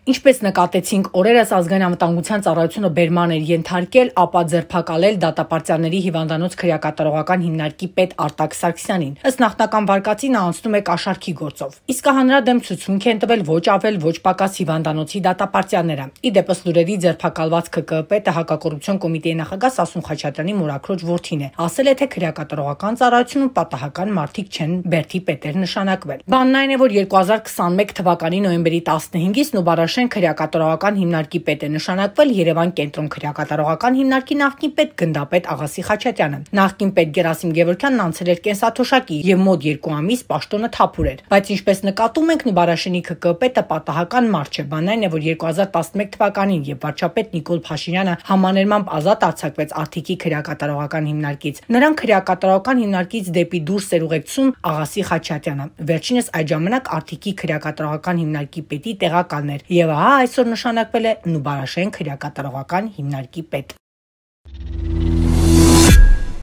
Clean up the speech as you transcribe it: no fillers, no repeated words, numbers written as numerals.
Ինչպես նկատեցինք, օրերս ազգային անվտանգության ծառայությունը բերման էր ենթարկել, ապա ձերբակալել դատապարտյալների հիվանդանոց քրեակատարողական հիմնարկի պետ Արտակ Սարգսյանին։ Ըստ նախնական վարկածի նա անցնում է կաշառքի գործով։ Իսկ նրա դեմ ցուցմունք են տվել ոչ ավել, ոչ պակաս հիվանդանոցի դատապարտյալները։ Ի դեպս լուրերի ձերբակալված ԿԿԸ պետը հակակոռուպցիոն կոմիտեի նախագահ Սասուն Խաչատրյանի մորաքրոջ որդին է։ Ասել է, թե քրեակատարողական ծառայությունում պատահական մարդիկ չեն բերդի պետեր նշանակվել։ Բանն այն է, որ 2021 թվականի նոյեմբերի 15-ից Նուբարաշեն քրեակատարողական հիմնարկի պետ է նշանակվել Երևան կենտրոն քրեակատարողական հիմնարկի նախկին պետ գնդապետ Աղասի Խաչատյանը։ Նախկին պետ Գերասիմ Գևորգյանն անցել էր կենսաթոշակի եւ մոտ 2 ամիս պաշտոնը թափուր էր։ Բայց ինչպես նկատում ենք, Նուբարաշենի ԿԿ պետը պատահական մարդ չէ։ Բանն այն է, որ 2011 թվականին, երբ վարչապետ Նիկոլ Փաշինյանը համաներմամբ ազատ արձակվեց Արտիկի քրեակատարողական հիմնարկից, նրան քրեակատարողական հիմնարկից դեպի դուրս էր ուղեկցում Աղասի Խաչատյանը։ Վերջինս այդ ժամանակ Արտիկի քրեակատարողական հիմնարկի պետի տեղակալն էր եւ այսօր նշանակվել է Նուբարաշեն քրեակատարողական հիմնարկի պետ։